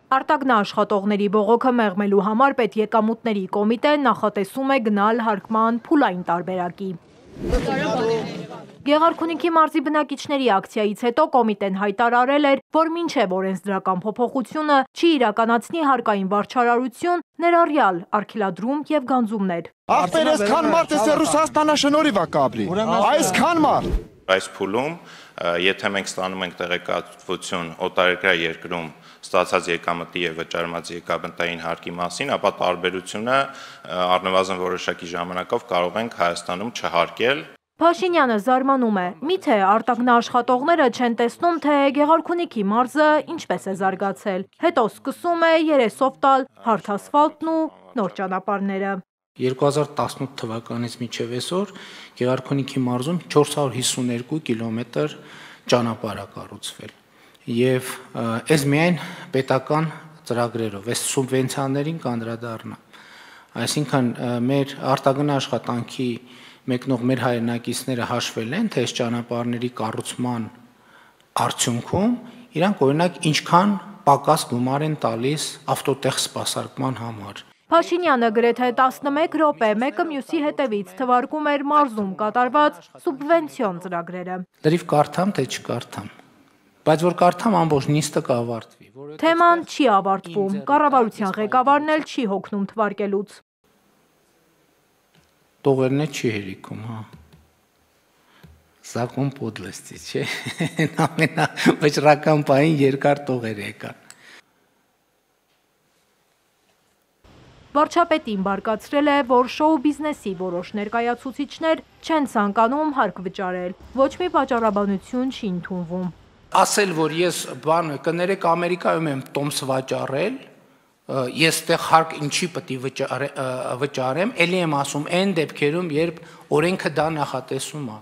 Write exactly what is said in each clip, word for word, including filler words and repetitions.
Արտագնա աշխատողների բողոքը մեղմելու համար պետեկամուտների կոմիտեն նախատեսում է գնալ հարկման փուլային տարբերակի։ Գեղարքունիքի մարզի բնակիչների ակցիայից հետո կոմիտեն հայտարարել էր, որ մինչև օրենսդրական փոփոխությունը չի իրականացնի հարկային վարչարարություն, ներառյալ արգելադրում եւ գանձումներ։ Ախպեր այսքան մարդ է Ռուսաստանը շնորհիվ է կապրի։ Այսքան մարդ։ Այս փուլում, եթե մենք ստանում ենք տեղեկատվություն օտարերկրյա երկրում ստացած եկամտի եւ վճարված եկամտային հարկի մասին, ապա տարբերությունը առնվազն որոշակի ժամանակով կարող ենք Հայաստանում չհարկել։ Փաշինյանը զարմանում է, միթե արտագնա աշխատողները չեն տեսնում, թե Գեղարքունիքի մարզը ինչպես է զարգացել, հետո սկսում է երեսով տալ հարթ ասֆալտն ու նոր ճանապարհները։ երկու հազար տասնութ թվականից մինչև այսօր Գեղարքունիքի մարզում չորս հարյուր հիսուներկու կիլոմետր ճանապարհ է կառուցվել եւ այս միայն պետական ծրագրերով, այս սուբվենցիաներին կանդրադառնա։ Այսինքն մեր արտագնա աշխատանքի մեկնող մեր հայրենակիցները հաշվել են, թե այս ճանապարհների կառուցման արդյունքում իրանք օրինակ ինչքան պակաս գումար են տալիս ավտոտեղ սպասարկման համար։ Փաշինյանը գրեթե տասնմեկ րոպե մեկը մյուսի հետևից թվարկում էր մարզում կատարված սուբվենցիոն ծրագրերը։ Լրիվ կարդամ, թե չկարդամ, բայց որ կարդամ ամբողջ նիստը կավարտվի։ Թեման չի ավարտվում, կառավարության ղեկավարն էլ չի հոգնում թվարկելուց։ Տողերն չի հերիքում, հա։ Закон подлости, չէ։ Ամենավճռական պահին երկար տողեր եկան։ Վարչապետին բարկացրել է, որ շոու բիզնեսի որոշ ներկայացուցիչներ չեն ցանկանում հարկ վճարել, ոչ մի պատճառաբանություն չի ընդունվում։ Ասել, որ ես բան կներեք Ամերիկայում եմ տոմս վաճառել, ես տեղ հարկ ինչի պետք է վճարեմ, ելի եմ ասում այն դեպքերում, երբ օրենքը դա նախատեսում է։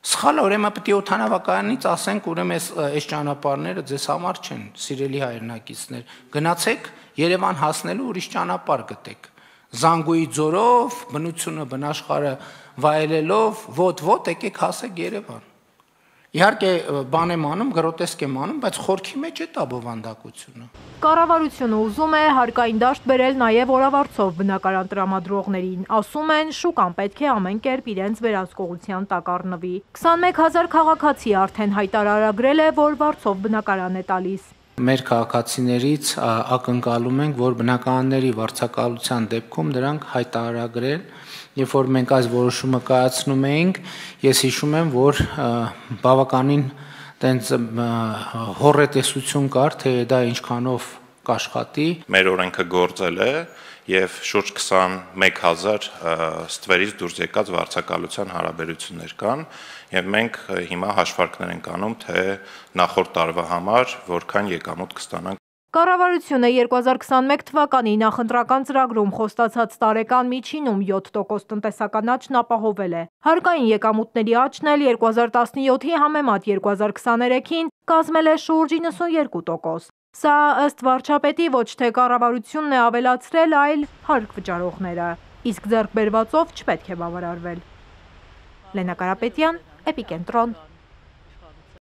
Սխալ ուրեմն պետք է օդանավակայանից ասենք, ուրեմն այս ճանապարհները ձեզ համար չեն, սիրելի հայրենակիցներ, գնացեք Երևան հասնելու ուրիշ ճանապարհ գտեք։ Զանգուի ձորով, բնությունը բնաշխարհը վայելելով, ոտ-ոտ եկեք հասեք Երևան։ Իհարկե բան եմ անում, գրոտեսկ եմ անում, բայց խորքի մեջ է դա բովանդակությունը։ Կառավարությունը ուզում է հարկային դաշտ բերել նաև օրավարձով բնակարան տրամադրողներին, ասում են շուկան պետք է ամեն կերպ իրենց վերահսկողության տակ առնվի։ քսանմեկ հազար քաղաքացի արդեն հայտարարագրել է, որ վարձով բնակարան է տալիս։ Մեր քաղաքացիներից ակնկալում ենք, որ բնակարանների վարձակալության դեպքում դրանք հայտարարագրել, երբ որ մենք այս որոշումը կայացնում էինք, ես հիշում եմ, որ բավականին տենց հոռետեսություն կար, թե դա ինչքանով կաշխատի։ Մեր օրենքը գործել է եւ շուրջ քսանմեկ հազար ստվերից դուրս եկած վարձակալության հարաբերություններ կան եւ մենք հիմա հաշվարկներ ենք անում, թե նախորդ տարվա համար որքան եկամուտ կստանանք։ Կառավարությունը երկու հազար քսանմեկ թվականի նախընտրական ծրագրում խոստացած տարեկան միջինում յոթ տոկոս տնտեսական աճն ապահովել է։ Հարկային եկամուտների աճն էլ երկու հազար տասնյոթի համեմատ երկու հազար քսաներեքին կազմել է շուրջ իննսունյոթ տոկոս։ Սա ըստ վարչապետի ոչ թե կառավարությունն է ավելացրել, այլ հարկ վճարողները, իսկ ձեռք բերվածով չպետք է բավարարվել։ Լենա Կարապետյան, Էպիկենտրոն։